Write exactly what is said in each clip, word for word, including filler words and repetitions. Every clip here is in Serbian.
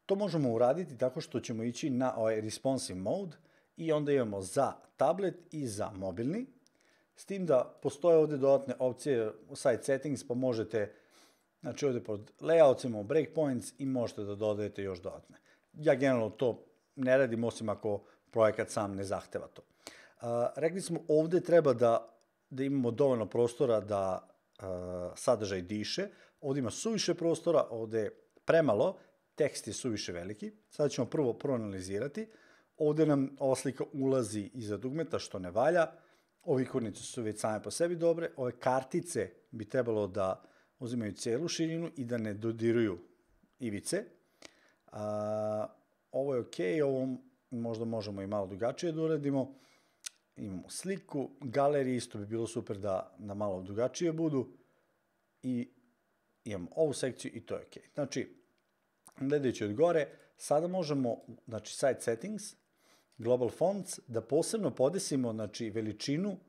To možemo uraditi tako što ćemo ići na ovaj responsive mode i onda imamo za tablet i za mobilni, s tim da postoje ovde dodatne opcije u site settings, pa možete, znači ovde pod layouts imamo breakpoints i možete da dodajete još dodatne. Ja generalno to ne radim, osim ako projekat sam ne zahteva to. Uh, rekli smo ovde treba da, da imamo dovoljno prostora da uh, sadržaj diše, ovde ima suviše prostora, ovde je premalo, tekst je suviše veliki. Sada ćemo prvo proanalizirati. Ovde nam ova slika ulazi iza dugmeta, što ne valja. Ove ikonice su već same po sebi dobre. Ove kartice bi trebalo da uzimaju celu širinu i da ne dodiruju ivice. A, ovo je ok, ovo možda možemo i malo drugačije da uradimo. Imamo sliku, galerije, isto bi bilo super da, da malo drugačije budu. I imamo ovu sekciju i to je ok. Znači, gledajući od gore, sada možemo, znači site settings, global fonts, da posebno podesimo, znači, veličinu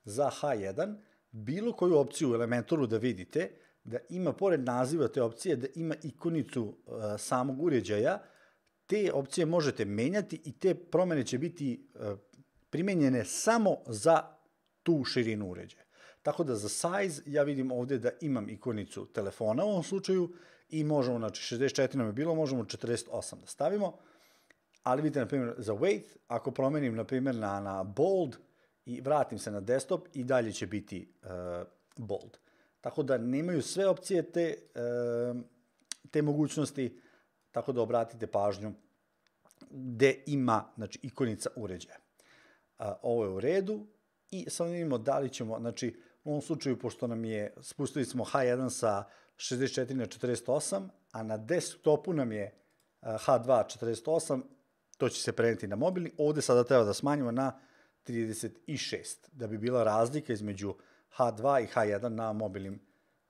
za H jedan, bilo koju opciju u Elementoru da vidite, da ima pored naziva te opcije, da ima ikonicu uh, samog uređaja, te opcije možete menjati i te promene će biti uh, primenjene samo za tu širinu uređaja. Tako da za size ja vidim ovde da imam ikonicu telefona u ovom slučaju i možemo, znači šezdeset četiri nam je bilo, možemo četrdeset osam da stavimo, ali vidite, na primjer, za weight, ako promenim, na primjer, na, na bold i vratim se na desktop, i dalje će biti uh, bold. Tako da nemaju sve opcije te, uh, te mogućnosti, tako da obratite pažnju gde ima, znači, ikonica uređaja. Uh, ovo je u redu i sad vidimo da li ćemo, znači, u ovom slučaju, pošto nam je, spustili smo H jedan sa šezdeset četiri na četrdeset osam, a na desktopu nam je H dva četrdeset osam, to će se preneti na mobilni, ovde sada treba da smanjimo na trideset šest, da bi bila razlika između H dva i H jedan na mobilnim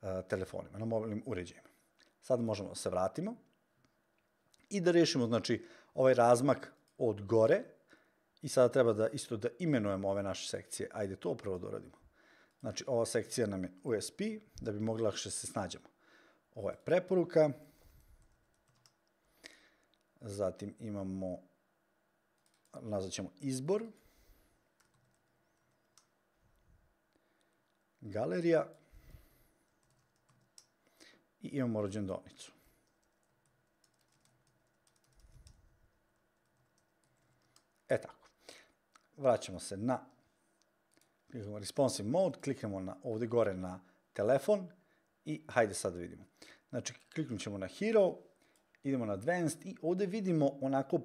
uh, telefonima, na mobilnim uređajima. Sad možemo da se vratimo i da rešimo, znači, ovaj razmak od gore i sada treba da isto da imenujemo ove naše sekcije. Ajde to prvo da uradimo. Znači, ova sekcija nam je U S P, da bi mogli lakše se snađemo. Ovo je preporuka. Zatim imamo, nazvat ćemo izbor. Galerija. I imamo rođendovnicu. E tako. Vraćamo se na kliknemo responsive mode, kliknemo na, ovde gore na telefon i hajde sad da vidimo. Znači, kliknut ćemo na hero, idemo na advanced i ovde vidimo onako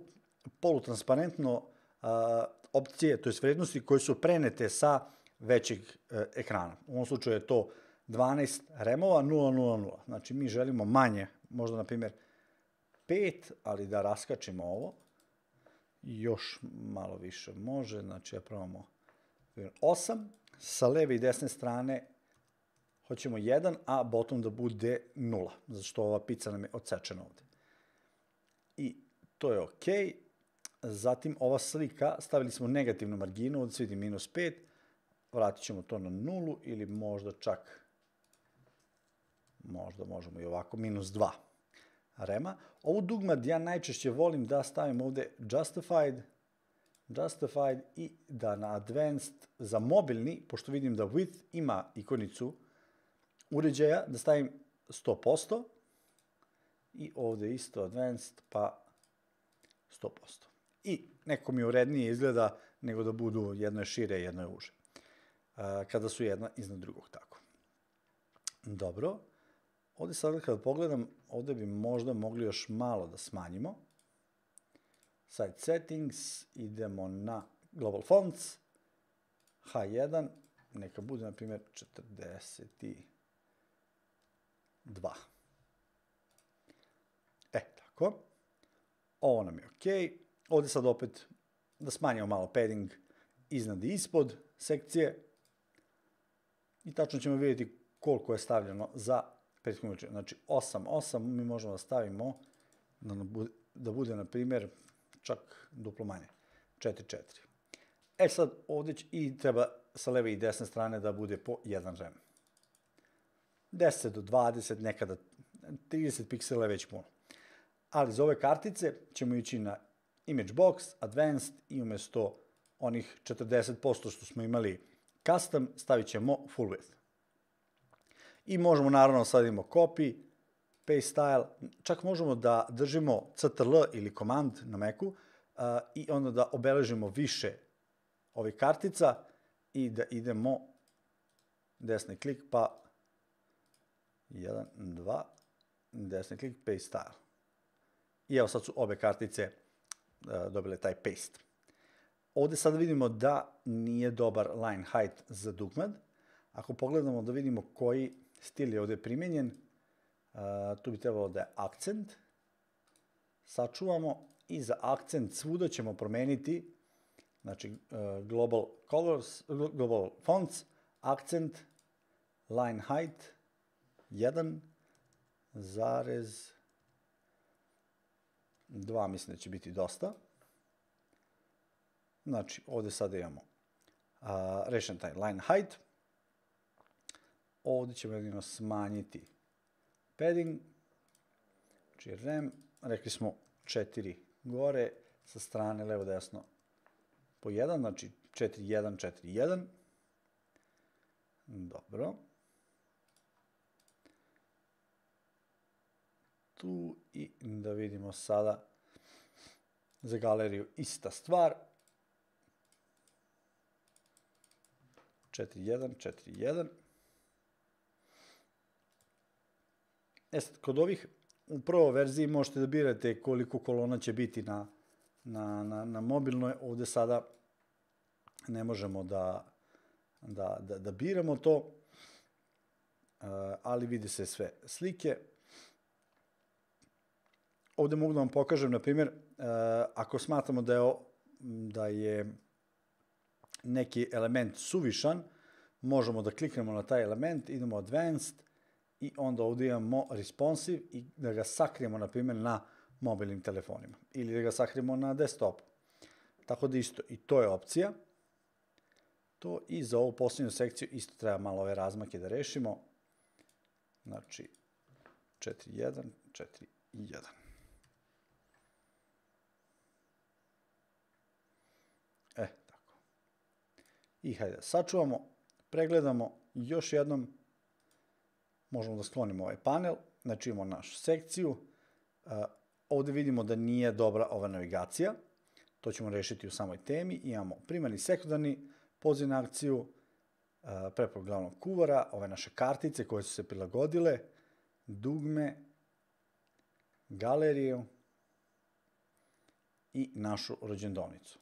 polutransparentno uh, opcije, to je vrednosti koje su prenete sa većeg uh, ekrana. U ovom slučaju je to dvanaest remova, nula nula nula. Znači, mi želimo manje, možda na primjer pet, ali da raskačimo ovo. Još malo više može, znači ja probamo osam, sa leve i desne strane hoćemo jedan, a bottom da bude nula, zato što ova pica nam je odsečena ovde. I to je ok. Zatim ova slika, stavili smo negativnu marginu, ovde se vidi minus pet, vratit ćemo to na nulu ili možda čak, možda možemo i ovako, minus dva rema. Ovu dugmad ja najčešće volim da stavim ovde justified, justified i da na advanced za mobilni, pošto vidim da width ima ikonicu uređaja, da stavim sto posto i ovde isto advanced pa sto posto. I neko mi urednije izgleda nego da budu jedno je šire, jedno je uže. Kada su jedna iznad drugog tako. Dobro. Ovde sad kada pogledam, ovde bi možda mogli još malo da smanjimo. Site settings, idemo na global fonts, H jedan, neka bude na primjer četrdeset dva. E, tako. Ovo nam je ok. Ovde sad opet da smanjimo malo padding iznad i ispod sekcije. I tačno ćemo vidjeti koliko je stavljeno za prethodnu veličinu. Znači osam, osam mi možemo da stavimo da, bude, da bude, na primjer, čak duplo manje, četiri, četiri. E sad ovde će, i treba sa leve i desne strane da bude po jedan rem. deset do dvadeset, nekada trideset piksela je već puno. Ali za ove kartice ćemo ići na Image Box, Advanced i umjesto onih četrdeset posto što smo imali custom, stavit ćemo full width. I možemo naravno sad imamo copy, paste style, čak možemo da držimo Ctrl ili command na Macu uh, i onda da obeležimo više ovih kartica i da idemo desni klik pa jedan, dva, desni klik, paste style. I evo sad su obe kartice uh, dobile taj paste. Ovdje sad vidimo da nije dobar line height za dugmad. Ako pogledamo da vidimo koji stil je ovdje primjenjen, uh, tu bi trebalo da je akcent. Sačuvamo i za akcent svuda ćemo promeniti, znači uh, global colors, global fonts, akcent, line height, jedan zarez dva, mislim da će biti dosta. Znači, ovdje sada imamo uh, rešen taj line height. Ovdje ćemo jedino smanjiti padding, znači rem, rekli smo četiri gore, sa strane levo desno po jedan, znači četiri jedan četiri jedan. Dobro. Tu i da vidimo sada za galeriju ista stvar. četiri jedan četiri jedan. E sad, kod ovih u prvoj verziji možete da birate koliko kolona će biti na, na, na, na mobilnoj. Ovdje sada ne možemo da, da, da, da biramo to, uh, ali vidi se sve slike. Ovdje mogu da vam pokažem, na primjer, uh, ako smatramo da je, da je neki element suvišan, možemo da kliknemo na taj element, idemo Advanced i onda ovdje imamo Responsive i da ga sakrijemo, na primjer, na mobilnim telefonima ili da ga sakrijemo na desktopu. Tako da isto, i to je opcija. To i za ovu posljednju sekciju isto treba malo ove razmake da rešimo. Znači, četiri jedan četiri jedan. E, tako. I hajde da sačuvamo, pregledamo još jednom. Možemo da sklonimo ovaj panel, znači imamo našu sekciju. Uh, ovdje vidimo da nije dobra ova navigacija. To ćemo rešiti u samoj temi. Imamo primarni, sekundarni, poziv na akciju, uh, preporuk glavnog kuvara, ove naše kartice koje su se prilagodile, dugme, galeriju i našu rođendovnicu.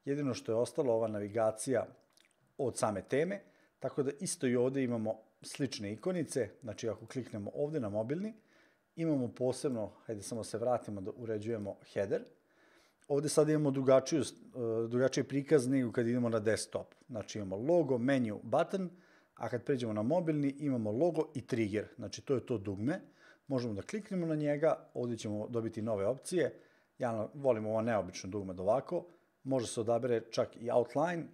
Jedino što je ostalo ova navigacija od same teme, tako da isto i ovdje imamo slične ikonice, znači ako kliknemo ovdje na mobilni, imamo posebno, hajde samo se vratimo da uređujemo header. Ovdje sad imamo drugačiju, drugačiji prikaz nego kad idemo na desktop. Znači imamo logo, menu, button, a kad pređemo na mobilni imamo logo i trigger, znači to je to dugme. Možemo da kliknemo na njega, ovdje ćemo dobiti nove opcije. Ja volim ovo neobično dugme da ovako, može se odabere čak i outline.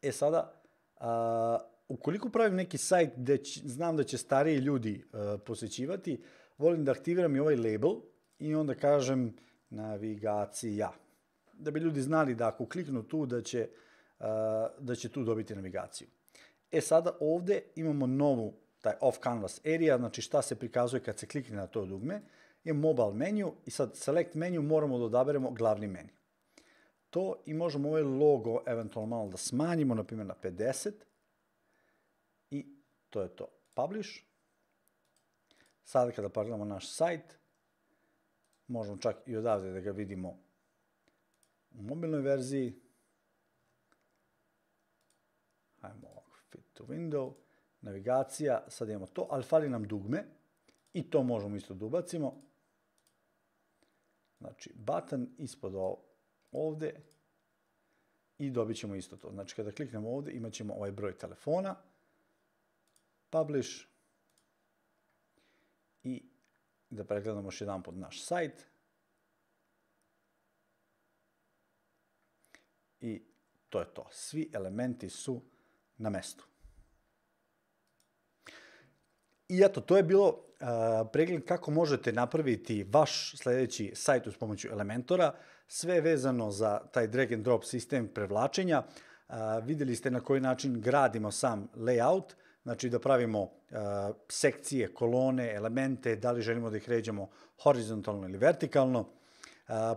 E sada, a, ukoliko pravim neki sajt gde će, znam da će stariji ljudi uh, posjećivati, volim da aktiviram i ovaj label i onda kažem navigacija. Da bi ljudi znali da ako kliknu tu da će, uh, da će tu dobiti navigaciju. E sada ovdje imamo novu, taj off canvas area, znači šta se prikazuje kad se klikne na to dugme. Imamo mobile menu i sad select menu moramo da odaberemo glavni menu. To i možemo ovaj logo eventualno malo da smanjimo, na primjer na pedeset. I to je to. Publish. Sada kada pogledamo naš sajt, možemo čak i odavde da ga vidimo u mobilnoj verziji. Hajmo ovako, fit to window, navigacija, sad imamo to, ali fali nam dugme i to možemo isto da ubacimo. Znači, button ispod ovdje i dobit ćemo isto to. Znači, kada kliknemo ovdje, imat ćemo ovaj broj telefona, publish i da pregledamo još jedan pod naš sajt. I to je to. Svi elementi su na mestu. I eto, to je bilo pregled kako možete napraviti vaš sledeći sajt uz pomoću Elementora, sve je vezano za taj drag and drop sistem prevlačenja. Videli ste na koji način gradimo sam layout, znači da pravimo sekcije, kolone, elemente, da li želimo da ih ređamo horizontalno ili vertikalno.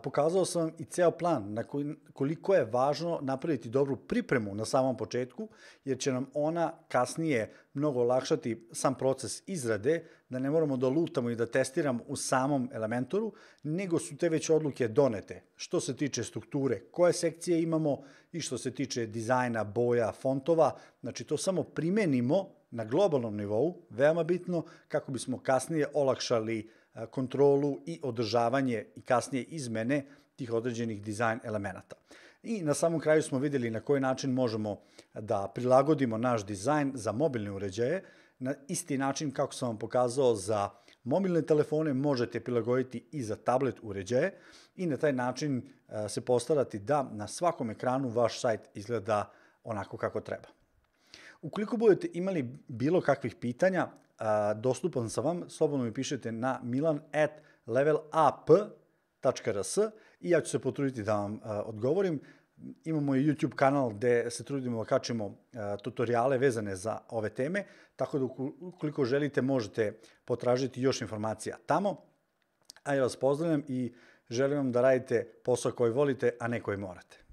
Pokazao sam i ceo plan na koliko je važno napraviti dobru pripremu na samom početku, jer će nam ona kasnije mnogo olakšati sam proces izrade, da ne moramo da lutamo i da testiramo u samom Elementoru, nego su te već odluke donete. Što se tiče strukture, koje sekcije imamo i što se tiče dizajna, boja, fontova, znači to samo primenimo na globalnom nivou, veoma bitno, kako bismo kasnije olakšali kontrolu i održavanje i kasnije izmene tih određenih dizajn elemenata. I na samom kraju smo videli na koji način možemo da prilagodimo naš dizajn za mobilne uređaje. Na isti način kako sam vam pokazao za mobilne telefone možete prilagoditi i za tablet uređaje i na taj način se postarati da na svakom ekranu vaš sajt izgleda onako kako treba. Ukoliko budete imali bilo kakvih pitanja, dostupan sam vam, slobodno mi pišete na milan at levelup tačka r s i ja ću se potruditi da vam odgovorim. Imamo i YouTube kanal gde se trudimo da kačimo tutoriale vezane za ove teme, tako da ukoliko želite možete potražiti još informacija tamo. A ja vas pozdravljam i želim vam da radite posao koji volite, a ne koji morate.